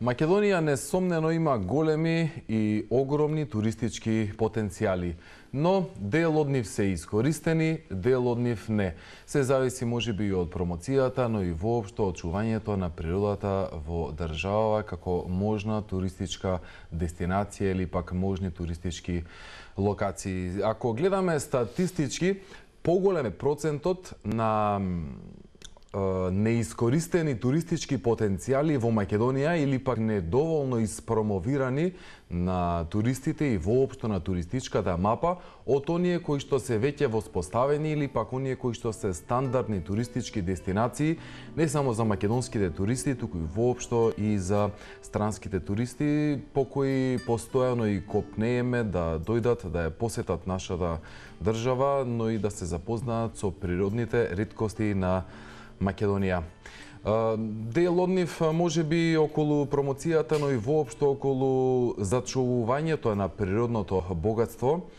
Македонија несомнено има големи и огромни туристички потенцијали, но дел од нив се искористени, дел од нив не. Се зависи можеби и од промоцијата, но и воопшто од чувањето на природата во држава како можна туристичка дестинација или пак можни туристички локации. Ако гледаме статистички, поголем е процентот на неискористени туристички потенцијали во Македонија или пак недоволно испромовирани на туристите и воопшто на туристичката мапа од оние кои што се веќе воспоставени или пак оние кои што се стандардни туристички дестинации, не само за македонските туристи, туку и воопшто и за странските туристи по кои постојано и копнееме да дојдат да ја посетат нашата држава, но и да се запознаат со природните реткости на Македонија. Дел од нив можеби околу промоцијата, но и воопшто околу зачувувањето на природното богатство.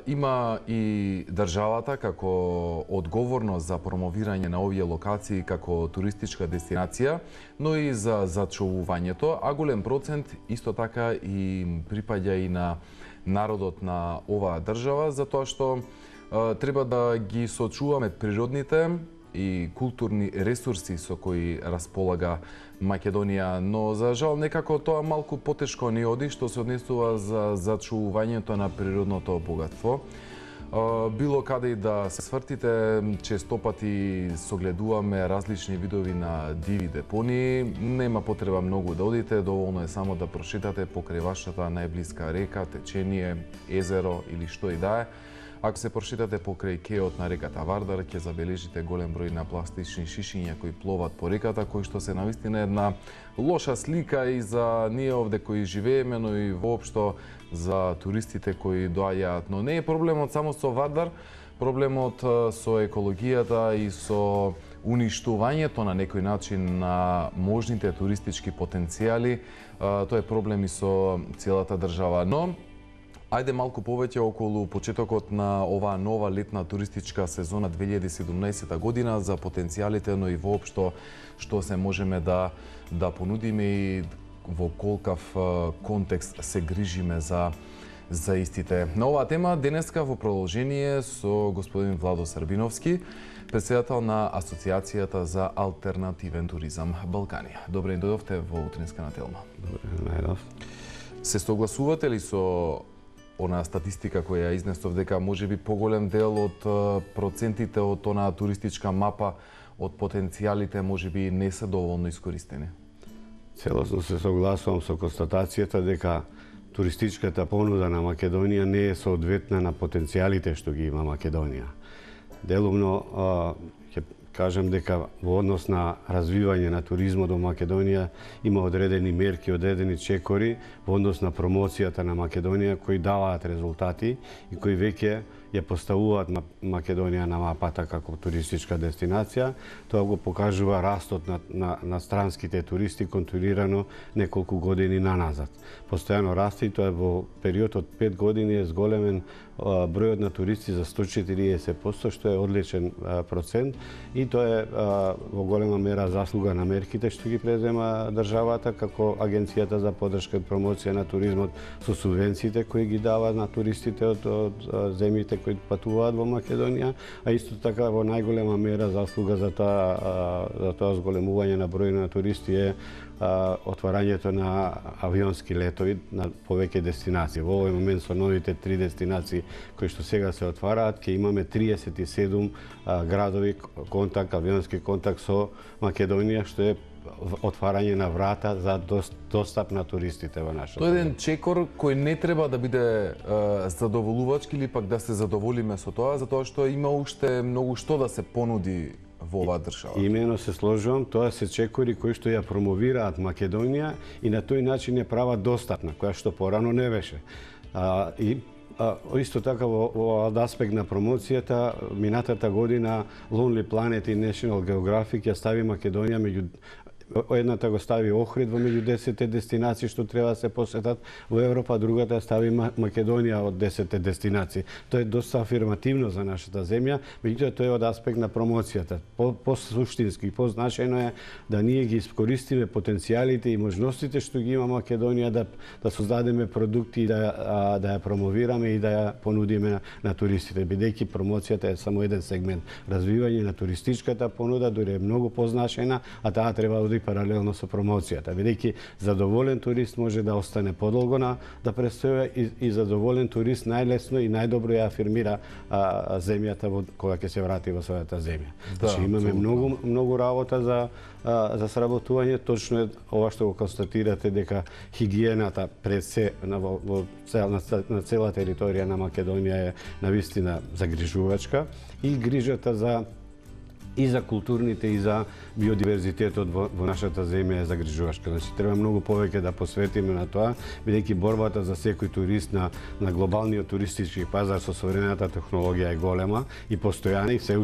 Има и државата како одговорност за промовирање на овие локации како туристичка дестинација, но и за зачувувањето, а голем процент исто така и припаѓа и на народот на оваа држава, затоа што треба да ги сочуваме природните и културни ресурси со кои располага Македонија, но за жал некако тоа малку потешко ни оди што се однесува за зачувувањето на природното богатство. Било каде и да се свртите, честопати согледуваме различни видови на диви депонии. Нема потреба многу да одите, доволно е само да прошетате покрај вашата најблиска река, течение, езеро или што и да е. Ако се прошетате покрај кеот на реката Вардар, ќе забележите голем број на пластични шишиња кои пловат по реката, кои што се навистина една лоша слика и за ние овде кои живееме, но и воопшто за туристите кои доаѓаат. Но не е проблемот само со Вардар, проблемот со екологијата и со уништувањето на некој начин на можните туристички потенцијали, тоа е проблем и со целата држава. Но ајде малку повеќе околу почетокот на оваа нова летна туристичка сезона 2017 година за потенцијалите, но и воопшто што се можеме да понудиме и во колкав контекст се грижиме за истите. На оваа тема денеска во продолжение со господин Владо Србиновски, претседател на Асоциацијата за алтернативен туризам Балканија. Добре дојдовте во утринска на Телма. Добре најдов. Се согласувате ли со она статистика која ја изнесов дека можеби поголем дел од процентите од онаа туристичка мапа од потенцијалите можеби не се доволно искористени? Целосно се согласувам со констатацијата дека туристичката понуда на Македонија не е соодветна на потенцијалите што ги има Македонија. Делумно ќе кажам дека во однос на развивање на туризмот во Македонија има одредени мерки, одредени чекори во однос на промоцијата на Македонија кои даваат резултати и кои веќе ја поставуваат Македонија на мапата како туристичка дестинација. Тоа го покажува растот на странските туристи контролирано неколку години наназад. Постојано расте и тоа во период од 5 години е зголемен бројот на туристи за 140%, што е одличен процент и тоа е во голема мера заслуга на мерките што ги презема државата како Агенцијата за поддршка и промоција на туризмот со субвенциите кои ги дава на туристите од земјите кои патуваат во Македонија, а исто така во најголема мера заслуга за тоа зголемување на број на туристи е отварањето на авионски летови на повеќе дестинации. Во овој момент со новите 3 дестинации кои што сега се отвараат, ќе имаме 37 градови авионски контакт со Македонија, што е отварање на врата за достап на туристите во нашата. Тоа е еден чекор кој не треба да биде задоволувачки или пак да се задоволиме со тоа, затоа што има уште многу што да се понуди во оваа држава. Имено се сложувам, тоа се чекори кои што ја промовираат Македонија и на тој начин ја прават достапна, која што порано не беше. Исто така во аспект на промоцијата, минатата година Lonely Planet и National Geographic ја стави Македонија меѓу едната го стави Охрид во меѓу 10 дестинации што треба да се посетат во Европа, другата стави Македонија од 10 дестинации. Тоа е доста афирмативно за нашата земја, меѓутоа тоа е од аспект на промоцијата. По-суштински, позначајно е да ние ги искористиме потенцијалите и можностите што ги има Македонија да создадеме продукти и да ја промовираме и да ја понудиме на туристите, бидејќи промоцијата е само еден сегмент. Развивање на туристичката понуда дури е многу позначајна, а таа треба да оди паралелно со промоцијата, бидејќи задоволен турист може да остане подолго да престојува и задоволен турист најлесно и најдобро ја афирмира земјата кога ќе се врати во својата земја. Значи имаме многу работа за сработување. Точно е ова што го констатирате, дека хигиената пред се на цела територија на Македонија е навистина загрижувачка и грижата и за културните и за биодиверзитетот во нашата земја е загрижувачка. Значи треба многу повеќе да посветиме на тоа, бидејќи борбата за секој турист на глобалниот туристички пазар со современата технологија е голема и постојана и се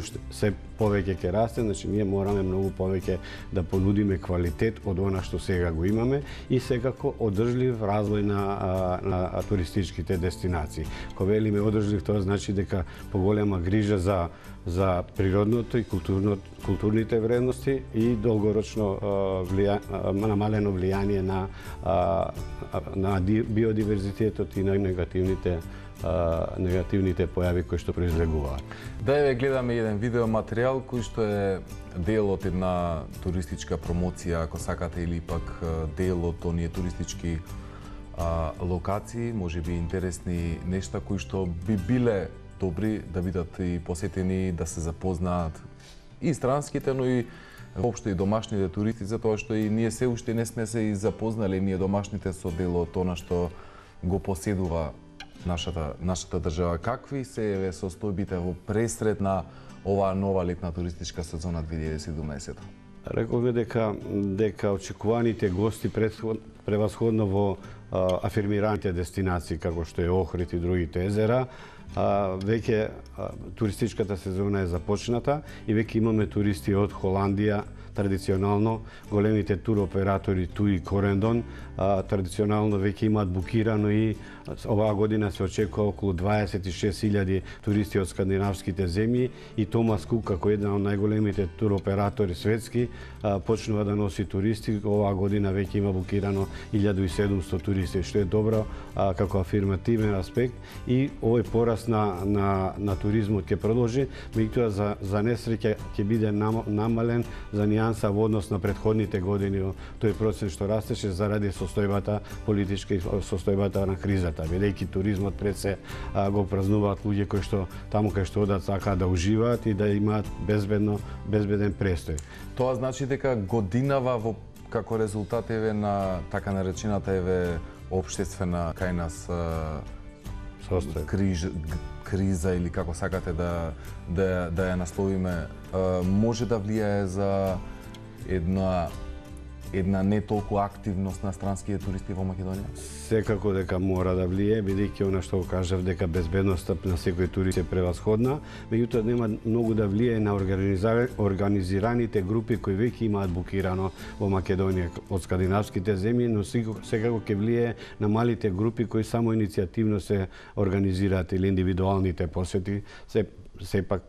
повеќе ќе расте, значи ние мораме многу повеќе да понудиме квалитет од она што сега го имаме и секако одржлив развој на туристичките дестинации. Кога велиме одржлив, тоа значи дека поголема грижа за природното и културните вредности и долгорочно намалено влијание на биодиверзитетот и на негативните појави кои што произлегуваат. Да еве гледаме еден видеоматеријал кој што е дел од една туристичка промоција, ако сакате, или пак дел од оние туристички локации, можеби интересни нешта кои што би биле добри да бидат и посетени, да се запознаат и странските, но и воопшто и домашните туристи, затоа што и ние се уште не сме се и запознали ние домашните со делот она што го поседува нашата држава. Какви се состојбите во пресред на оваа нова летна туристичка сезона 2017? Рековме дека очекуваните гости превасходно во афирмираните дестинации како што е Охрид и другите езера, веќе туристичката сезона е започната и веќе имаме туристи од Холандија, традиционално големите туроператори TUI и Corendon традиционално веќе имаат букирано и оваа година се очекува околу 26.000 туристи од скандинавските земји и Томас Кук како еден од најголемите туроператори светски почнува да носи туристи. Оваа година веќе има букирано 1700 туристи, што е добро како афирмативен аспект и овој пораст на туризмот ќе продолжи, меѓутоа за несреќа ќе биде намален за нијанса во однос на претходните години. Тој процент што растеше заради состојбата политичка и состојбата на кризата, бидејќи туризмот пред се го празнуваат луѓе кои што таму кај што одат сакаат да уживаат и да имаат безбеден престој. Тоа значи дека годинава како резултат на така наречената општествена кај нас криза или како сакате да ја насловиме, може да влијае за една не толку активност на странските туристи во Македонија? Секако дека мора да влијае, бидејќи она што го кажав дека безбедноста на секој турист е превасходна, меѓутоа нема многу да влијае на организираните групи кои веќе имаат букирано во Македонија од скандинавските земји, но секако ќе влијае на малите групи кои само иницијативно се организираат или индивидуалните посети. Сепак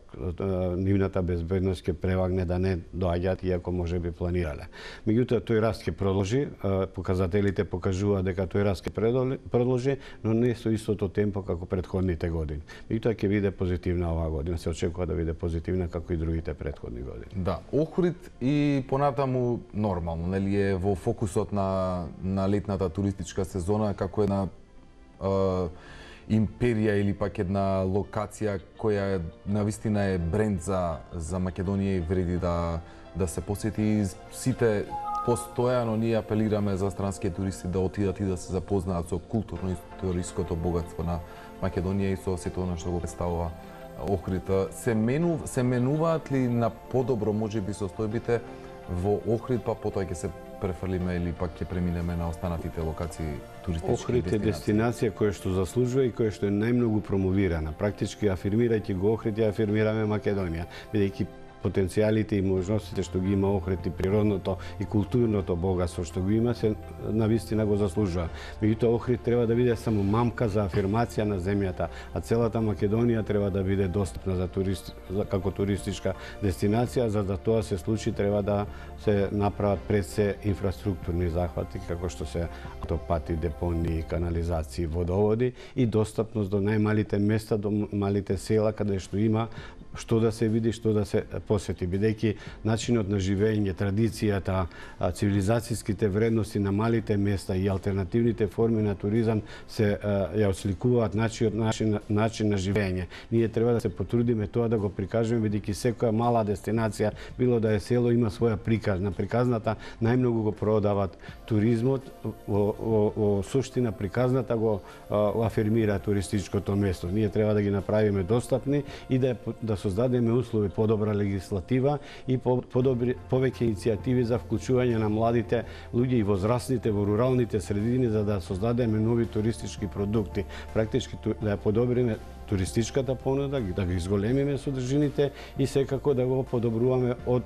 нивната безбедност ќе превагне да не доаѓаат иако може би планирале. Меѓутоа тој раст ќе продолжи, показателите покажуваат дека тој раст ќе продолжи, но не со истото темпо како претходните години. Меѓутоа ќе биде позитивна оваа година, се очекува да биде позитивна како и другите претходни години. Да, Охрид и понатаму нормално, нели е во фокусот на летната туристичка сезона како една империја или пак една локација која навистина е бренд за Македонија и вреди да се посети. И сите постојано ние апелираме за странски туристи да отидат и да се запознаат со културно-историското богатство на Македонија и со сето она што го представува Охрид. Се менуваат ли на подобро можеби состојбите во Охрид, па потоа ќе се префрлиме или пак ќе преминеме на останатите локации туристички Охрид е дестинација која што заслужува и која што е најмногу промовирана. Практички афирмирајќи го Охрид, ја афирмираме Македонија, бидејќи потенцијалите и можностите што ги има Охрид и природното и културното богатство што го има се навистина го заслужува. Меѓутоа Охрид треба да биде само мамка за афирмација на земјата, а целата Македонија треба да биде достапна за како туристичка дестинација. За да тоа се случи треба да се направат пред се инфраструктурни захвати како што се автопати, депонии, канализации, водоводи и достапност до најмалите места, до малите села каде што има што да се види, што да се посети, бидејќи начинот на живење, традицијата, цивилизацијските вредности на малите места и алтернативните форми на туризам се ја осликуваат начин на живење. Ние треба да се потрудиме тоа да го прикажеме, бидејќи секоја мала дестинација, било да е село, има своја приказ. На приказната најмногу го продават туризмот, во суштина приказната го афирмира туристичкото место. Ние треба да ги направиме достапни и да создадеме услови, подобра легислатива и повеќе иницијативи за вклучување на младите луѓе и возрастните во руралните средини за да создадеме нови туристички продукти. Практички да ја подобриме туристичката понуда, да ги изголемиме содржините и секако да го подобруваме од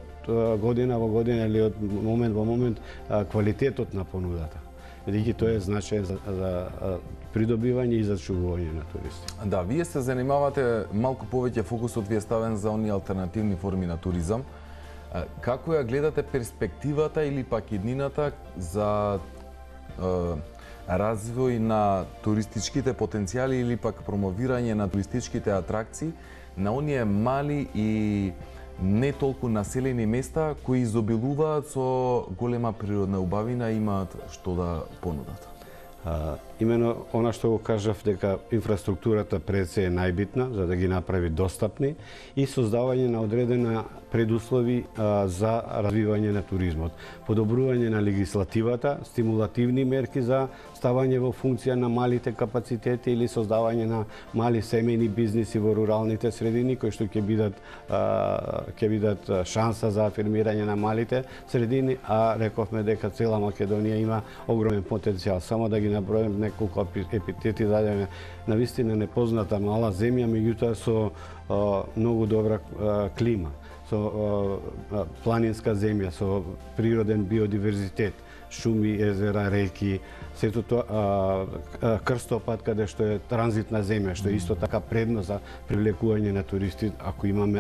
година во година или од момент во момент квалитетот на понудата. Бидејќи тоа е значаен за придобивање и зачувување на туристи. Да, вие се занимавате, малку повеќе фокусот ви е ставен за оние алтернативни форми на туризам. Како ја гледате перспективата или пак иднината за развој на туристичките потенцијали или пак промовирање на туристичките атракции на оние мали и не толку населени места кои изобилуваат со голема природна убавина и имаат што да понудат? Имено она што го кажав дека инфраструктурата пред се е најбитна за да ги направи достапни и создавање на одредена предуслови за развивање на туризмот. Подобрување на легислативата, стимулативни мерки за ставање во функција на малите капацитети или создавање на мали семејни бизниси во руралните средини кои што ќе бидат шанса за афирмирање на малите средини, а рековме дека цела Македонија има огромен потенцијал. Само да ги наброим неколку епитети дадеме. Навистина непозната мала земја, меѓутоа со многу добра клима, со планинска земја, со природен биодиверзитет, шуми, езера, реки, сето тоа крстопат каде што е транзитна земја, што е исто така предност за привлекување на туристи,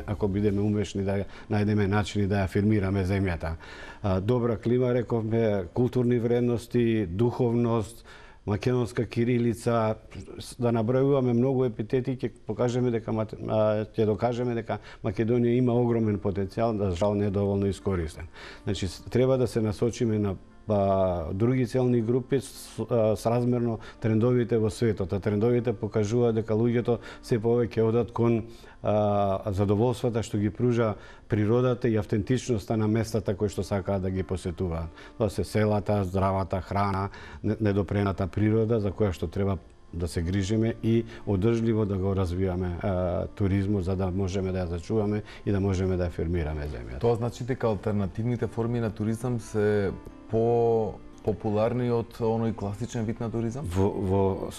ако бидеме умешни да најдеме начини да ја афирмираме земјата. Добра клима, рековме, културни вредности, духовност, македонска кирилица, да набројуваме многу епитети, ќе докажеме дека Македонија има огромен потенцијал, да жал недоволно искористен. Значи, треба да се насочиме на други целни групи сразмерно трендовите во светот. А трендовите покажуваат дека луѓето се повеќе одат кон задоволствата што ги пружа природата и автентичноста на местата кои што сакаат да ги посетуваат. Тоа се селата, здравата храна, недопрената природа за која што треба да се грижиме и одржливо да го развиваме туризмот за да можеме да ја зачуваме и да можеме да афирмираме земјата. Тоа значи дека алтернативните форми на туризам се популарни од оној класичен вид на туризам? Во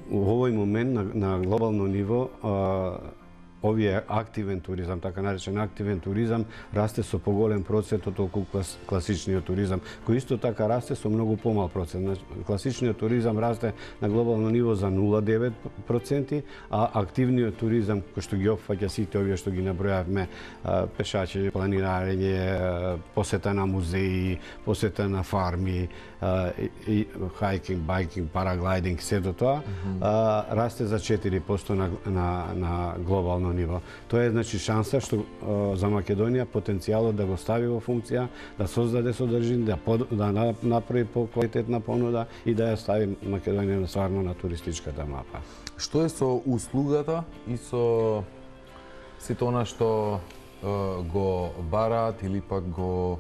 овој момент на глобално ниво овие активен туризам, така наречен активен туризам, расте со поголем процент од околу класичниот туризам, кој исто така расте со многу помал процент. Класичниот туризам расте на глобално ниво за 0,9%, а активниот туризам, кој што ги опфаќа сите овие што ги набројавме, пешачење, планинарење, посета на музеи, посета на фарми, хайкинг, байкинг, параглайдинг, сето тоа, расте за 4% на глобално ниво. Тоа е значи шанса што за Македонија потенцијалот да го стави во функција, да создаде содржини, да направи поквалитетна понуда и да ја стави Македонија стварно на туристичката мапа. Што е со услугата и со сето она што го бараат или пак го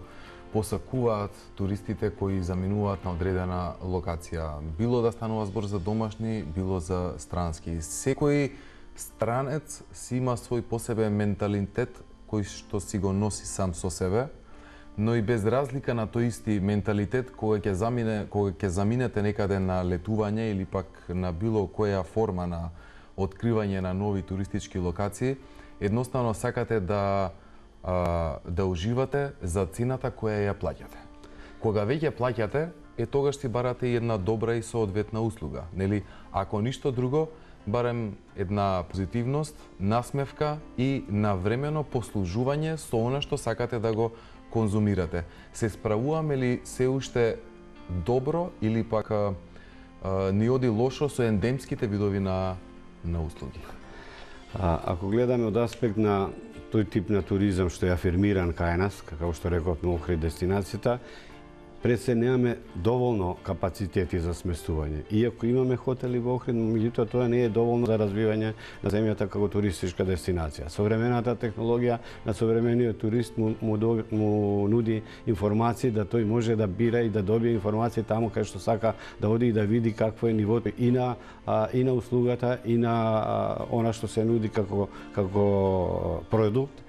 посакуваат туристите кои заминуваат на одредена локација? Било да станува збор за домашни, било за странски. Секој странец си има свој посебен менталитет кој што си го носи сам со себе, но и без разлика на тој исти менталитет кога ќе заминете некаде на летување или пак на било која форма на откривање на нови туристички локации, едноставно сакате да да уживате за цената која ја плаќате. Кога веќе плаќате, тогаш си барате и една добра и соодветна услуга, нели? Ако ништо друго, барем една позитивност, насмевка и навремено послужување со она што сакате да го конзумирате. Се справуваме ли се уште добро или пак ни оди лошо со ендемските видови на услуги? Ако гледаме од аспект на тој тип на туризам што е афирмиран кај нас, како што рековме Охрид дестинацијата, пред се немаме доволно капацитети за сместување. Иако имаме хотели во Охрид, меѓутоа тоа не е доволно за развивање на земјата како туристичка дестинација. Современата технологија на современиот турист му нуди информации да тој може да бира и да добие информации таму кај што сака да оди и да види какво е нивото и на услугата и на она што се нуди како продукт.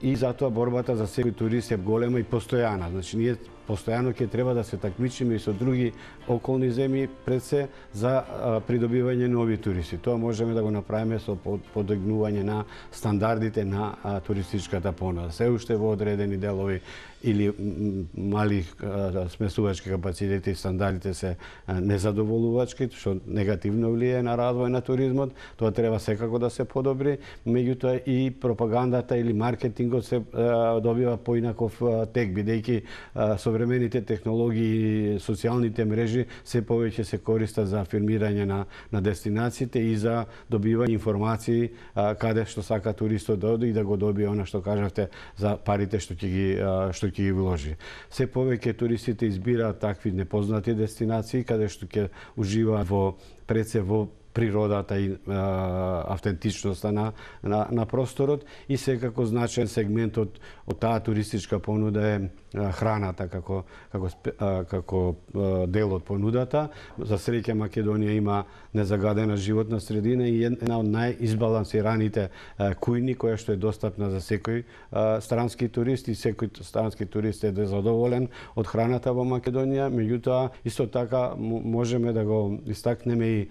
И затоа борбата за секој турист е голема и постојана. Значи ние постојано ќе треба да се такмичиме и со други околни земји пред се за придобивање нови туристи. Тоа можеме да го направиме со подигнување на стандардите на туристичката понуда. Се уште во одредени делови или мали смесувачки капацитети и стандардите се незадоволувачки, што негативно влијае на развој на туризмот. Тоа треба секако да се подобри, меѓутоа и пропагандата или маркетингот се добива поинаков тек, бидејќи современите технологии и социјалните мрежи се повеќе се користат за афирмирање на дестинациите и за добивање информации каде што сака туристот да оди и да го добие она што кажавте за парите што ќе ги вложи. Се повеќе туристите избираат такви непознати дестинации каде што ќе уживаат во природата и автентичноста на просторот и секако значаен сегмент од таа туристичка понуда е храната како дел од понудата. За среќа Македонија има незагадена животна средина и една од најизбалансираните кујни која што е достапна за секој странски турист и секој странски турист е задоволен од храната во Македонија. Меѓутоа исто така можеме да го истакнеме и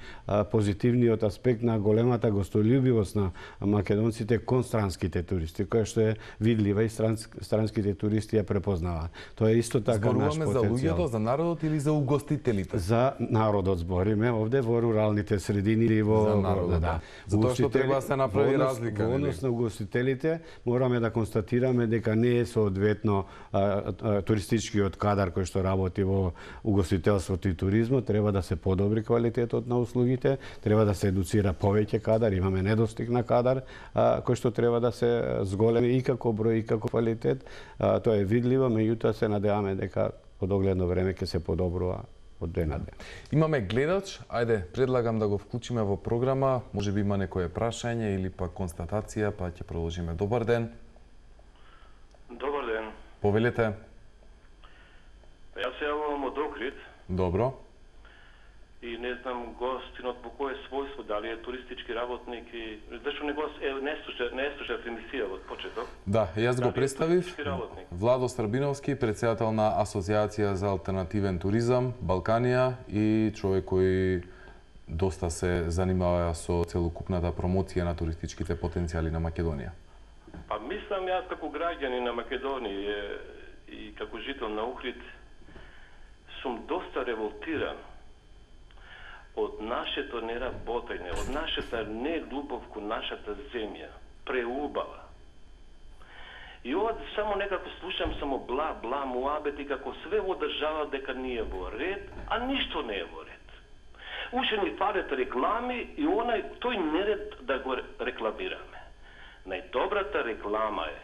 позитивниот аспект на големата гостољубивост на македонците кон странските туристи, која што е видлива и странските туристи ја препознаваат. Тоа е исто така наш потенцијал. Зборуваме за луѓето, за народот или за угостителите? За народот збориме овде во руралните средини или во за народот. Да. Затоа што треба да се направи разлика. Во однос на угостителите мораме да констатираме дека не е соодветно туристичкиот кадар кој што работи во угостителството и туризмот, треба да се подобри квалитетот на услугите, треба да се едуцира повеќе кадар, имаме недостиг на кадар кој што треба да се зголеми и како број и како квалитет. Тоа е видливо, меѓутоа се надеваме дека по догледно време ќе се подобрува од ден на ден. Имаме гледач, ајде, предлагам да го вклучиме во програма, можеби има некое прашање или пак констатација, па ќе продолжиме. Добар ден. Добар ден. Повелете. Јас се јавувам од Охрид. Добро. И не знам гостинот по кое својство, дали е туристички работник и зашто не слуша емисија од почеток. Да, јас го представив. Владо Србиновски, претседател на Асоциација за алтернативен туризам Балканија и човек кој доста се занимава со целокупната промоција на туристичките потенцијали на Македонија. Па мислам јас како граѓанин на Македонија и како жител на Охрид сум доста револтиран од нашето неработење, од нашата нелюбов кон нашата земја, преубава. И ова само некако слушам само бла муабети како све во држава дека не е во ред, а ништо не е во ред. Уште ни фалат реклами и тој неред да го рекламираме. Најдобрата реклама е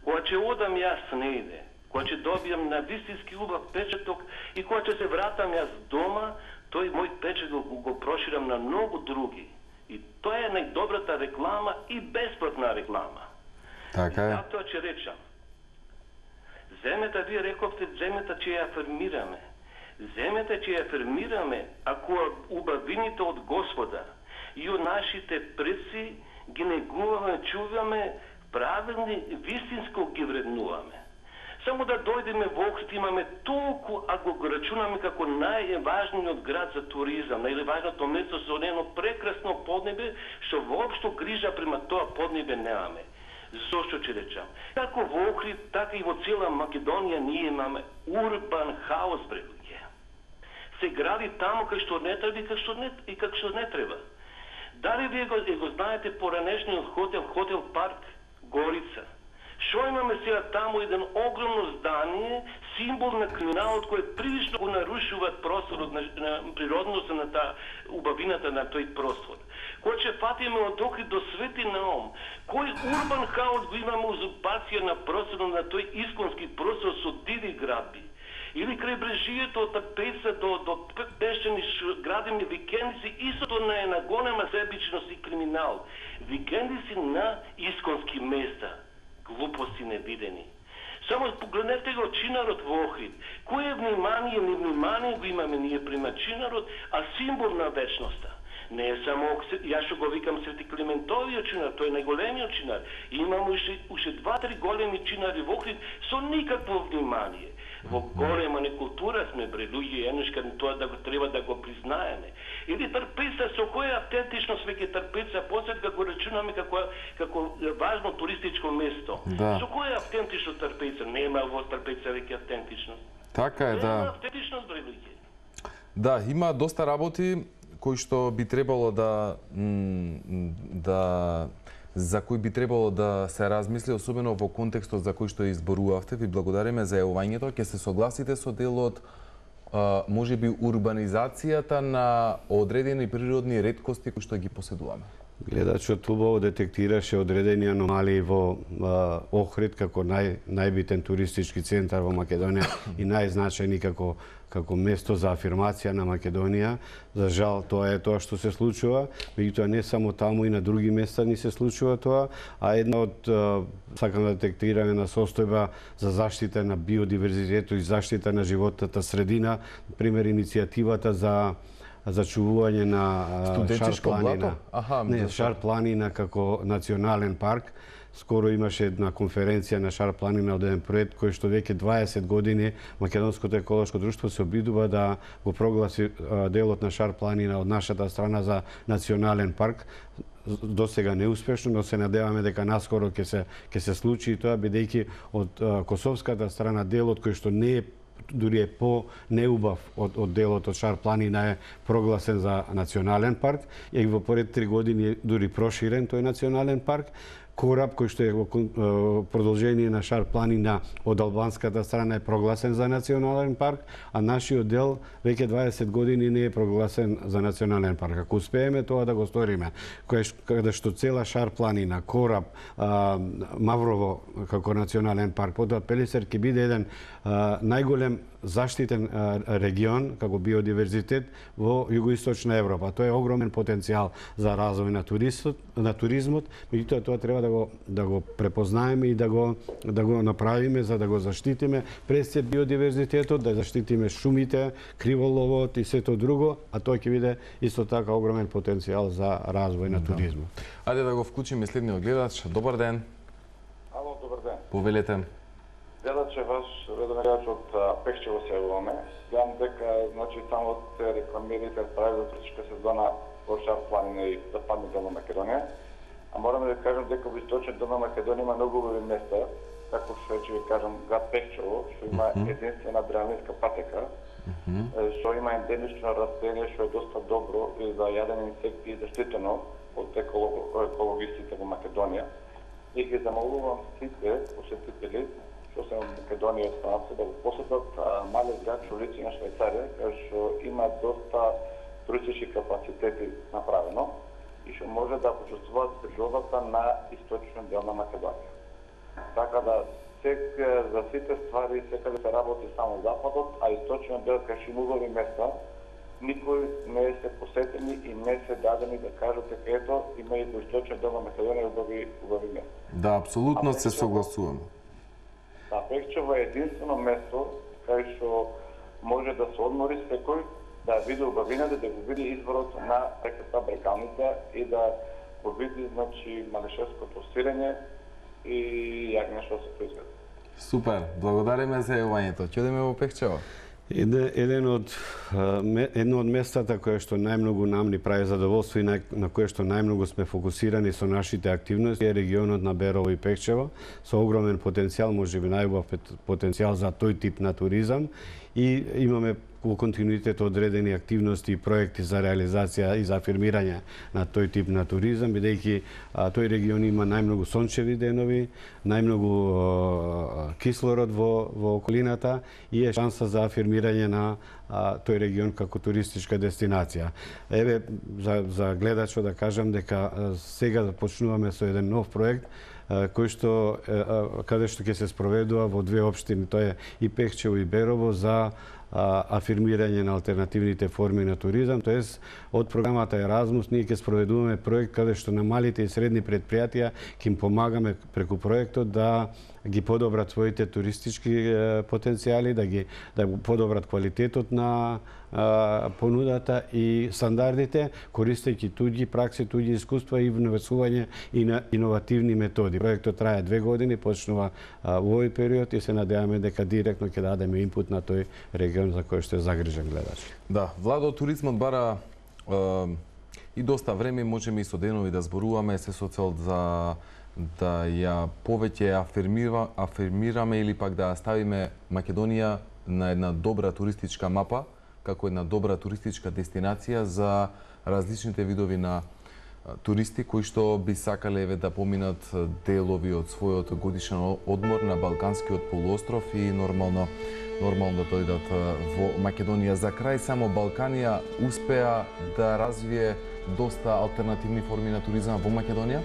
кога ќе одам јас негде, кога ќе добијам на вистински убав печаток и кога ќе се вратам јас дома, тој мој печат го проширам на многу други. И тоа е најдобрата реклама и бесплатна реклама. Така е. Затоа ќе речам, земјата, вие рековте, земјата ќе ја афирмираме. Земјата ќе ја афирмираме ако убавините од Господа и од нашите предци ги негуваме, чуваме, правилни, вистинско ги вреднуваме. Само да дојдеме во Охрид имаме толку, ако го рачунаме како најважниот град за туризам, најважното место со едно прекрасно поднебе, што воопшто грижа према тоа поднебе немаме. Зошто ќе речам? Како во Охрид, така и во цела Македонија ние имаме урбан хаос, бре луѓе. Се гради таму кај што не треба и како што не треба. Дали вие го знаете поранешниот хотел Парк Горица? Шо имаме сега таму еден огромно здание, символ на криминалот кој прилично го нарушуваат просторот на природноста на убавината на тој простор. Кој ќе фатиме од Охрид до Свети Наум, кој урбан хаос го имаме узурпација на просторот на тој исконски простор со диви градби. Или крајбрежието од Тарпеца до пештени градени викендици, истото на една голема себичност и криминал. Викендици на исконски места. Глупости невидени. Само погледнете го чинарот во Охрид. Кое внимание, невнимание го имаме ние према чинарот, а символ на вечноста. Не е само, јас што го викам Свети Климентовиот чинар, тој е најголемиот чинар. Имаме уште 2-3 големи чинари во Охрид со никакво внимание. Во голема некултура сме, бре, луѓе, еднашка тоа да го треба да го признаеме. Или Трпеца, со која автентичност веќе Трпеца, посет како рачунаме како важно туристичко место. Да. Со која автентично Трпеца? Нема во Трпеца веќе автентичност. Така е, да. Нема автентичност, бре, луѓе. Да, има доста работи кои што би требало за кои би требало да се размисли, особено во контекстот за кој што изборувавте. Ви благодариме за јавувањето. Ќе се согласите со делот, можеби урбанизацијата на одредени природни реткости кои што ги поседуваме? Гледачот убаво детектираше одредени аномалии во Охрид како најбитен туристички центар во Македонија и најзначајни како место за афирмација на Македонија. За жал, тоа е тоа што се случува, меѓутоа не само таму и на други места ни се случува тоа, а една од сакам да детектираме на состојба за заштита на биодиверзитетот и заштита на животната средина, пример иницијативата за зачувување на Шар планина. Шар планина како национален парк. Скоро имаше една конференција на Шар планина од еден проект кој што веќе 20 години Македонското еколошко друштво се обидува да го прогласи делот на Шар планина од нашата страна за национален парк. До сега неуспешно, но се надеваме дека наскоро ќе се случи тоа, бидејќи од косовската страна делот кој што не е дури е по-неубав од делот од Шар планина е прогласен за национален парк и во поред 3 години дури проширен тој национален парк. Кораб кој што е во продолжение на Шар планина од албанската страна е прогласен за национален парк, а нашиот дел веќе 20 години не е прогласен за национален парк. Ако успееме тоа да го сториме, каде што цела Шар планина, Кораб, Маврово како национален парк, потоа Пелисер ќе биде еден најголем заштитен регион како биодиверзитет во југоисточна Европа. Тоа е огромен потенцијал за развој на туризмот, меѓутоа тоа треба да го препознаеме и да го направиме за да го заштитиме пред се биодиверзитетот, да заштитиме шумите, криволовот и сето друго, а тоа ќе биде исто така огромен потенцијал за развој на туризмот. Ајде да го вклучиме следниот гледач. Добар ден. Ало, добар ден. Повелете. Гледаче ваш редомерач од Пехчево се јавуваме. Гледам дека само се рекламирате прави за туристичка сезона во Шар планина и западни дел на Македонија. А мораме да кажем дека во источен дел на Македонија има многу убави места, како што ќе ви кажам град Пехчево, што има единствена адреналинска патека, што има ендемично растение што е доста добро и за јадене инсекти заштитено од екологистите во Македонија. И ги замолувам сите посетители што се во Македонија и странци да го посетат малиот град Чолици на Швајцарија, кај што има доста туристички капацитети направено и што може да почувствуваат природата на источниот дел на Македонија. Така да за сите ствари секаде се работи само западот, а источниот дел кај што има убави места, никој не се посетени и не се дадени да кажат дека ето има и во источниот дел на Македонија убави места. Да, апсолутно се согласувам. Да, Пехчево е единствено место кај што може да се одмори секој, да види убавината, да го види изворот на реката Брекалница и да го види, малешевското сирење и јагне што се произведе. Супер, благодариме за јавувањето. Ќе одиме во Пехчево. Едно од местата кое што најмногу нам ни прави задоволство и на кое што најмногу сме фокусирани со нашите активности е регионот на Берово и Пекчево, со огромен потенцијал, можеби најубав потенцијал за тој тип на туризам, и имаме во континуитет одредени активности и проекти за реализација и за афирмирање на тој тип на туризам, бидејќи тој регион има најмногу сончеви денови, најмногу кислород во околината и е шанса за афирмирање на тој регион како туристичка дестинација. Еве, за гледачот да кажам дека сега почнуваме со еден нов проект кој што каде што ќе се спроведува во две општини, тоа е и Пекчево и Берово, за афирмирање на алтернативните форми на туризам, тоест од програмата Еразмус ние ќе спроведуваме проект каде што на малите и средни предпријатија ќе им помагаме преку проектот да ги подобрат своите туристички потенцијали, да подобрат квалитетот на понудата и стандардите, користејќи туѓи пракси, туѓи искуства и внесување и на иновативни методи. Проектот трае 2 години, почнува во овој период и се надеваме дека директно ќе дадеме инпут на тој регион за кој што е загрижен гледач. Да, Владо, туризмот бара и доста време, можеме и со денови да зборуваме, се со цел за да ја повеќе афирмираме или пак да ставиме Македонија на една добра туристичка мапа, како една добра туристичка дестинација за различните видови на туристи кои што би сакале да поминат делови од својот годишен одмор на Балканскиот полуостров и нормално да дојдат во Македонија. За крај само Балканија успеа да развие доста алтернативни форми на туризам во Македонија?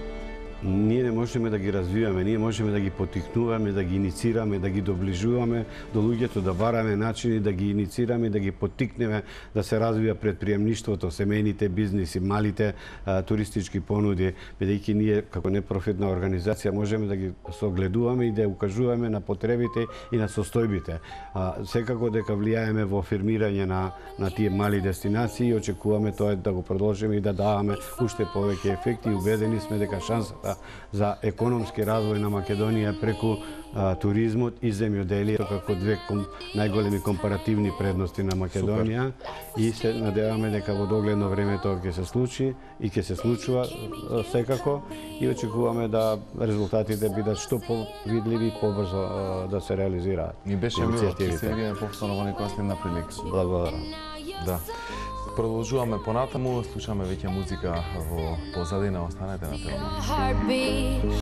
Ние не можеме да ги развиваме, ние можеме да ги потикнуваме, да ги иницираме, да ги доближуваме до луѓето, да бараме начини да ги иницираме, да ги потикнеме да се развија предприемништвото, семејните бизниси, малите туристички понуди, бидејќи ние како непрофитна организација можеме да ги согледуваме и да укажуваме на потребите и на состојбите. Секако дека влијаеме во афирмирање на тие мали дестинации и очекуваме тоа да го продолжиме и да даваме уште повеќе ефекти, и убедени сме дека шансата за економски развој на Македонија преку туризмот и земјоделието како две најголеми компаративни предности на Македонија. Супер. И се надеваме дека во догледно време тоа ќе се случи и ќе се случува секако, и очекуваме да резултатите бидат што повидливи и побрзо да се реализираат. Ни беше мило, ќе се видиме повторно во некоја следна прилика. Благодарам. Да. Продолжуваме понатаму, слушаме веќе музика во позадина, останете на телевизија.